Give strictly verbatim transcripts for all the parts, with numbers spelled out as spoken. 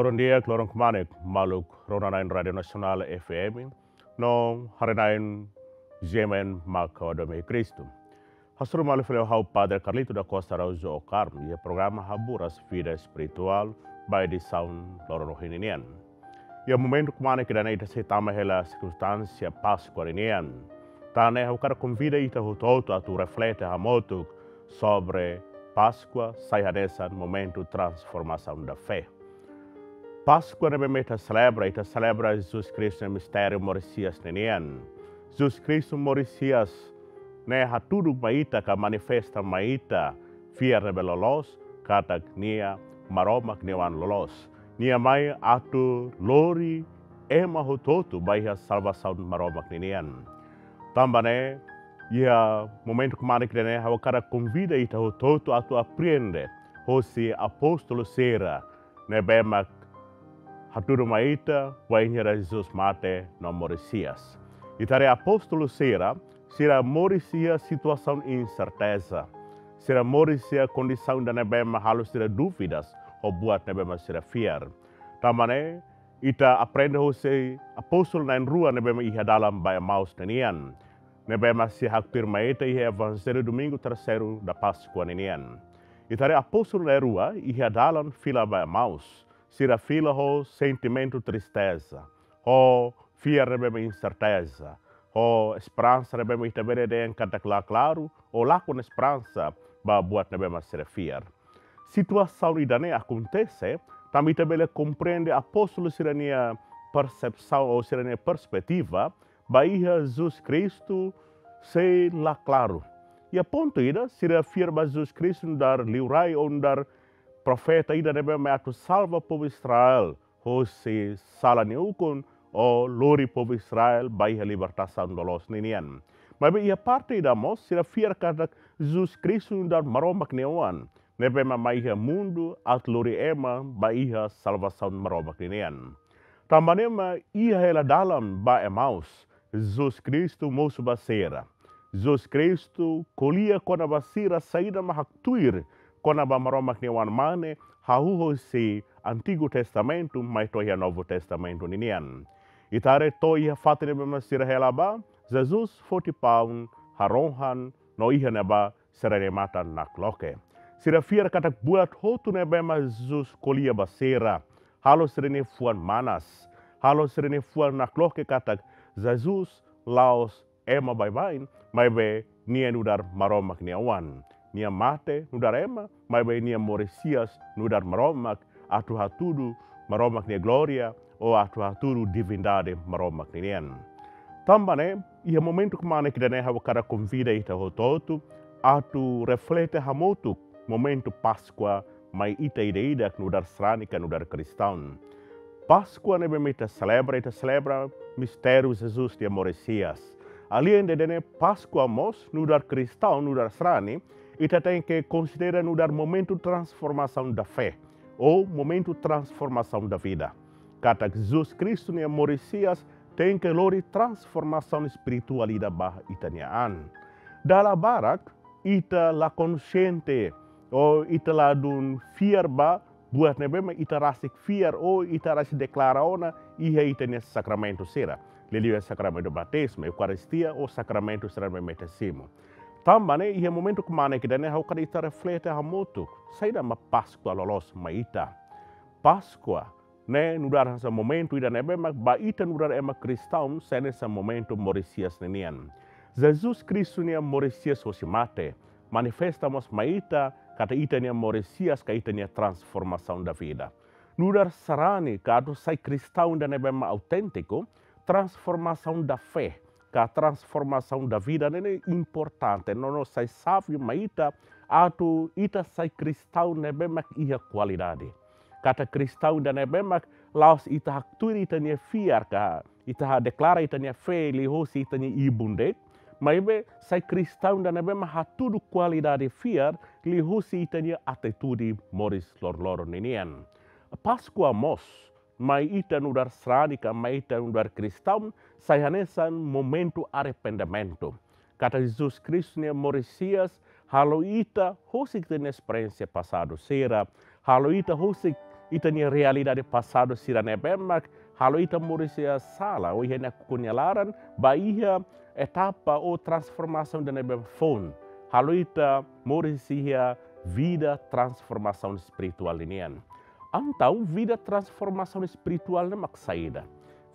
Loron di'ak, loron kmanek, maluk rona-na'in Rádiu Nasionál F M, no haree-na'in G M N Maka Wadome Kristu. Hasoru malu fali ho ha'u Padre Carlito da Costa Araújo Ocar, iha programa Haburas Vida Espirituál, ba edisaun loron ohin nian. Iha momentu kmanek ida-ne'e ita sei tama hela sirkunstánsia Páskua ninian. Tan ne'e ha'u hakarak konvida ita hotu-hotu atu reflete hamutuk sobre Páskua sai hanesan momentu transformação da fé. Páskua ne'ebé mak ita selebra, ita selebra Jesus Kristu nia mistériu moris-hi'as ninian. Jesus Kristu moris-hi'as ne'e hatudu mai ita ka manifesta mai ita fiar ne'ebé loloos katak nia Maromak nia Oan loloos. Nia mai atu lori ema hotu-hotu ba iha salvasaun Maromak ninian. Tanba ne'e, iha momentu kmanek ida-ne'e ha'u hakarak konvida ita hotu-hotu atu aprende hosi apóstolu sira ne'ebé mak hatudu mai ita wainhira Jesus mate no moris-hi'as. Ita haree apóstolu sira, sira moris iha situasaun inserteza. Sira moris iha kondisaun ida ne'ebé mak halo sira dúvidas ho buat ne'ebé mak sira fiar. Tanba ne'e, ita aprende hosi apóstolu na'in-rua ne'ebé mak iha dalan ba Emaús ninian. Ne'ebé mak sei haktuir mai ita iha Evanjellu Domingu Terseiru da Páskua ninian. Ita haree apóstolu na'in-rua iha dalan fila ba Emaús. Sira fila ho sentimentu tristeza, ho fiar ne'ebé mak inserteza, ho esperansa ne'ebé mak ita bele dehan katak la klaru, ou lakon esperansa ba buat ne'ebé mak sira fiar. Situasaun ida-ne'e akontese, tanba ita bele komprende apóstolu sira-nia persepsaun ou sira-nia perspetiva ba iha Jesus Kristu sei la klaru. Iha pontu ida, sira fiar ba Jesus Kristu nu'udar liurai ou nu'udar profeta ida ne'ebé mak atu salva povu Israel hosi sala nia ukun, ou lori povu Israel ba iha libertasaun loloos ninian. Maibé iha parte ida mós, sira fiar katak Jesus Kristu nu'udar Maromak nia Oan ne'ebé mak mai iha mundu atu lori ema ba iha salvasaun Maromak ninian. Tanba ne'e mak iha hela dalan ba Emaús, Jesus Kristu mosu ba sira. Jesus Kristu ko'alia kona-ba sira saida mak haktuir kona-ba Maromak nia Oan-Mane, hahú hosi Antigu Testamentu mai to'o iha Novu Testamentu ninian. Ita haree to'o iha fatin ne'ebé mak sira hela ba, Jesus foti paun, harohan, no iha ne'ebá sira-nia matan nakloke. Sira fiar katak buat hotu ne'ebé mak Jesus ko'alia ba sira, halo sira-nia fuan manas, halo sira-nia fuan nakloke katak Jesus la'ós ema baibain, maibé nia nu'udar Maromak nia Oan. Nia mate nu'udar ema, maibé nia moris-hi'as nu'udar Maromak, atu hatudu Maromak nia glória, ou atu hatudu divindade Maromak ninian. Tanba ne'e, iha momentu kmanek ida-ne'e ha'u hakarak konvida ita hotu-hotu atu reflete hamutuk momentu Páskua mai ita ida-idak nu'udar sarani ka nu'udar kristaun. Páskua ne'ebé mak ita selebra, ita selebra mistériu Jesus nia moris-hi'as. Alende ida-ne'e Páskua mós nu'udar kristaun, nu'udar sarani, ita tenke konsidera nu'udar momentu transformação da fé, ou momentu transformação da vida. Katak Jesus Kristu nia moris-hi'as tenke lori transformasaun espirituál ida ba ita-nia an. Dala barak, ita la konxiente, ou ita ladún fiar ba buat ne'ebé mak ita rasik fiar, ou ita rasik deklara ona iha ita-nia sakramentu sira. Liuliu iha sakramentu batizmu, Eukaristia, ou sakramentu sira ne'ebé mak ita simu. Tanba ne'e, iha momentu kmanek ida-ne'e ha'u hakarak ita reflete hamutuk, saida mak Páskua loloos mai ita. Páskua ne'e nu'udar hanesan momentu ida ne'ebé mak ba ita nu'udar ema kristaun sai hanesan momentu moris-hi'as ninian. Jesus Kristu nia moris-hi'as hosi mate manifesta mós mai ita katak ita-nia moris-hi'as ka ita-nia transformação da vida. Nu'udar sarani ka atu sai kristaun ida ne'ebé mak auténtiku, transformação da fé ka transformação da vida ne'e importante, no, no sai xave mai ita atu ita sai kristaun ne'ebé mak iha kualidade. Katak kristaun ida ne'ebé mak la'ós ita haktuir ita-nia fiar ka ita ha-, deklara ita-nia fé liuhosi ita-nia ibun de'it, maibé sai kristaun ida ne'ebé mak hatudu kualidade fiar liuhosi ita-nia atitude moris loroloron ninian. Páskua mós mai ita nu'udar sarani ka mai ita nu'udar kristaun sai hanesan momentu arrependimentu. Katak Jesus Kristu nia moris-hi'as halo ita husik ita-nia esperiénsia pasadu sira, halo ita husik ita-nia realidade pasadu sira ne'ebé mak halo ita moris iha sala, ou iha nakukun nia laran, ba iha etapa ou transformasaun ida ne'ebé foun. Halo ita moris iha vida transformasaun espirituál ninian. Entaun, vida transformasaun espirituál ne'e mak saida?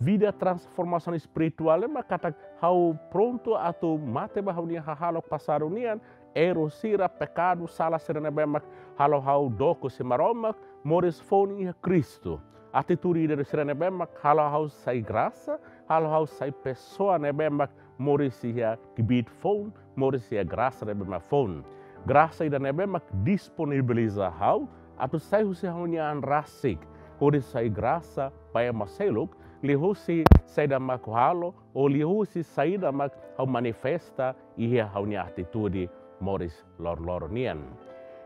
Vida transformasaun espirituál ne'e mak katak ha'u prontu atu mate ba ha'u-nia hahalok pasadu nian, erru sira, pekadu, sala sira ne'ebé mak halo ha'u dook husi Maromak, moris foun iha Kristu. Atitude ida sira ne'ebé mak halo ha'u sai grasa, halo ha'u sai pesoa ne'ebé mak moris iha kbiit foun, moris iha grasa ne'ebé mak foun. Grasa ida ne'ebé mak disponibiliza ha'u atu sai husi ha'u-nia an rasik, hodi sai grasa ba ema seluk, liuhusi saida mak ha'u halo, ou liuhusi saida mak ha'u manifesta iha ha'u-nia atitude moris loron-loron nian.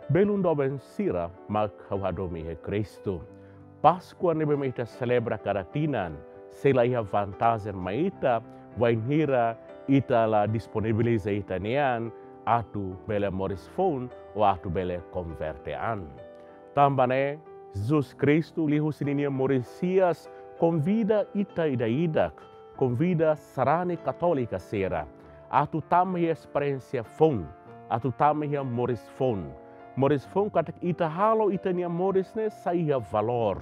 Belun doben sira mak ha'u hadomi iha Kristu. Páskua ne'ebé mak ita selebra kada tinan, sei la iha vantajen mai ita, wainhira ita la disponibiliza ita-nia an atu bele moris foun, ou atu bele konverte an. Tanba ne'e, Jesus Kristu liuhusi ninia moris hi'as konvida ita ida-idak, konvida sarani katólika sira, atu tama iha esperiénsia foun, atu tama iha moris foun. Moris foun katak ita halo ita-nia moris ne'e sai iha valór.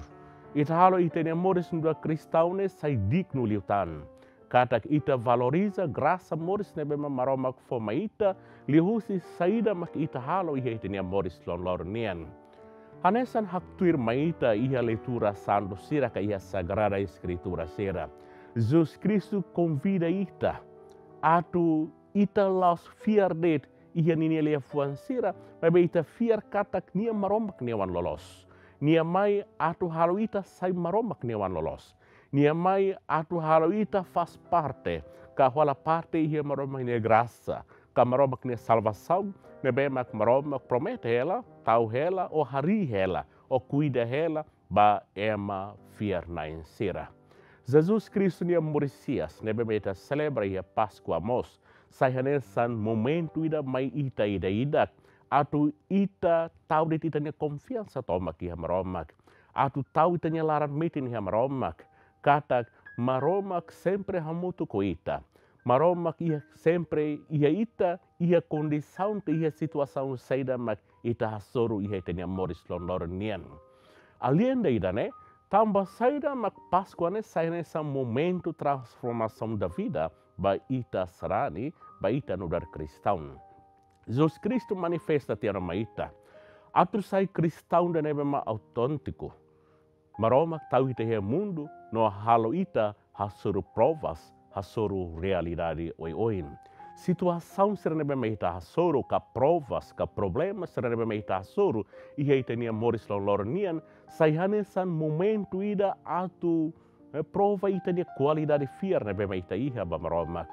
Ita halo ita-nia moris nu'udar kristaun ne'e sai dignu liután. Katak ita valoriza grasa moris ne'ebé mak Maromak fó mai ita, liuhusi saida mak ita halo iha ita-nia moris loron-loron nian. Hanesan haktuir mai ita iha leitura santu sira ka iha Sagrada Eskritura sira, Jesus Kristu konvida ita atu ita la'ós fiar de'it iha ninia liafuan sira, maibé ita fiar katak nia Maromak nia oan loloos. Nia mai atu halo ita sai Maromak nia oan loloos. Nia mai atu halo ita faz parte, ka hola parte iha Maromak nia grasa, ka Maromak nia salvasaun, ne'ebé mak Maromak promete hela, tau hela, ou harii hela, ou kuida hela ba ema fiar-na'in sira. Jesus Kristu nia moris hi'as ne'ebé mak ita selebra iha Páskua mós sai hanesan momentu ida mai ita ida-idak atu ita tau de'it ita-nia konfiansa tomak iha Maromak, atu tau ita-nia laran metin iha Maromak, katak Maromak sempre hamutuk ho ita. Maromak iha sempre iha ita, iha kondisaun ka iha situasaun saida mak ita hasoru iha ita-nia moris loron-loron nian. Alende ida-ne'e, tanba saida mak Páskua ne'e sai hanesan momentu transformasaun da vida ba ita sarani, ba ita nu'udar kristaun. Jesus Kristu manifesta tiha ona mai ita atu sai kristaun ida ne'ebé mak auténtiku. Maromak tau ita iha mundu no halo ita hasoru provas, hasoru realidade oioin. Situasaun sira ne'ebé mak ita hasoru ka provas ka problema sira ne'ebé mak ita hasoru iha ita-nia moris loron-loron nian sai hanesan momentu ida atu, eh, prova ita-nia kualidade fiar ne'ebé mak ita iha ba Maromak.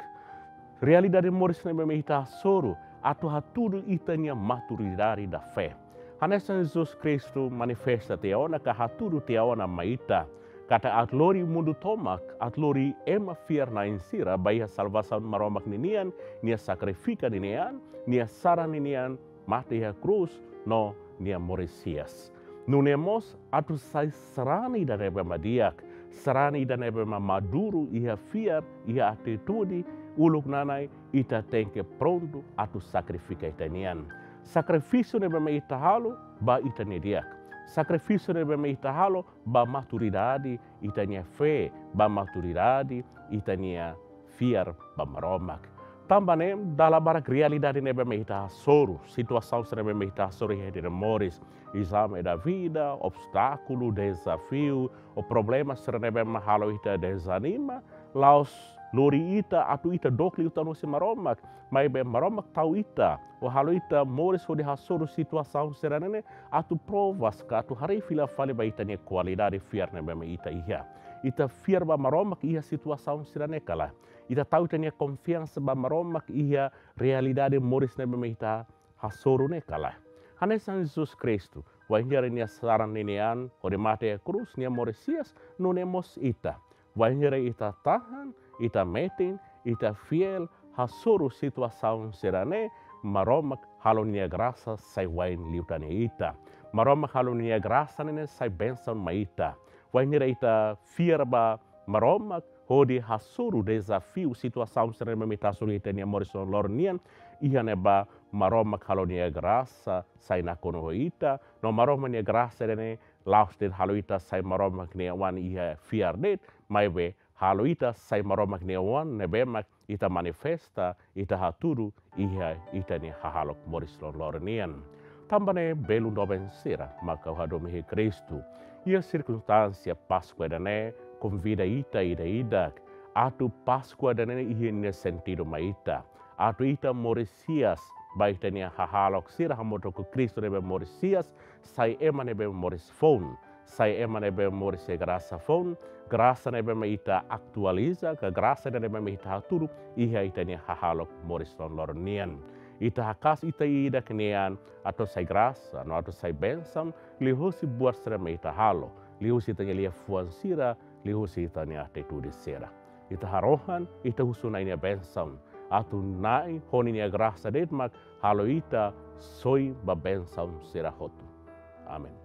Realidade moris ne'ebé mak ita hasoru atu hatudu ita-nia maturidade da fé. Hanesan Jesus Kristu manifesta tiha ona ka hatudu tiha ona mai ita, katak atu lori mundu tomak, atu lori ema fiar-na'in sira ba iha salvasaun Maromak ninian, nia sakrifika ninia an, nia saran ninia an, mate iha krús no nia moris hi'as. Nune'e mós atu sai sarani ida ne'ebé mak di'ak, sarani ida ne'ebé mak maduru iha fiar, iha atitude, uluk nanai ita tenke prontu atu sakrifika ita-nia an. Sakrifísiu ne'ebé mak ita halo ba ita-nia di'ak. Sakrifísiu ne'ebé mak ita halo ba maturidade ita-nia fé, ba maturidade ita-nia fiar ba Maromak. Tanba ne'e, dala barak realidade ne'ebé mak ita hasoru, situasaun sira ne'ebé mak ita hasoru iha ita-nia moris, ezame da vida, obstákulu, dezafiu, ou problema sira ne'ebé mak halo ita dezanima, la'ós lori ita atu ita dook liután husi Maromak, maibé Maromak tau ita, ou halo ita moris hodi hasoru situasaun sira-ne'e ne'e atu provas ka atu haree fila fali ba ita-nia kualidade fiar ne'ebé mak ita iha. Ita fiar ba Maromak iha situasaun sira-ne'e ka lae? Ita tau ita-nia konfiansa ba Maromak iha realidade moris ne'ebé mak ita hasoru ne'e ka lae? Hanesan Jesus Kristu, wainhira nia saran ninia an hodi mate iha krús, nia moris hi'as, nune'e mós ita. Wainhira ita tahan, ita metin, ita fiél, hasoru situasaun sira-ne'e, Maromak halo nia grasa sai wa'in liután iha ita. Maromak halo nia grasa ne'e sai bensaun mai ita. Wainhira ita fiar ba Maromak hodi hasoru dezafiu, situasaun sira ne'ebé mak ita hasoru iha ita-nia moris loron-loron nian, iha ne'ebá Maromak halo nia grasa sai nakonu ho ita, no Maromak nia grasa ne'e la'ós de'it halo ita sai Maromak nia oan iha fiar de'it, maibé halo ita sai Maromak nia oan ne'ebé mak ita manifesta, ita hatudu iha ita-nia hahalok moris loron-loron nian. Tanba ne'e belun doben sira mak ha'u hadomi iha Kristu, iha sirkunstánsia Páskua ida-ne'e konvida ita ida-idak atu Páskua ida-ne'e iha nia sentidu mai ita, atu ita moris hi'as ba ita-nia hahalok sira hamutuk ho Kristu ne'ebé moris hi'as, sai ema ne'ebé moris foun, sai ema ne'ebé moris iha grasa foun, grasa ne'ebé mak ita atualiza, ka grasa ne'ebé mak ita hatudu iha ita-nia hahalok moris loron-loron nian. Ita haka'as ita ida-idak nian atu sai grasa, no atu sai bensaun, liuhusi buat sira ne'ebé ita halo, liuhusi ita-nia liafuan sira, liuhusi ita-nia atitude sira. Ita harohan, ita husu Na'i nia bensaun atu Na'i ho ninia grasa de'it mak halo ita soi ba bensaun sira hotu. Amen.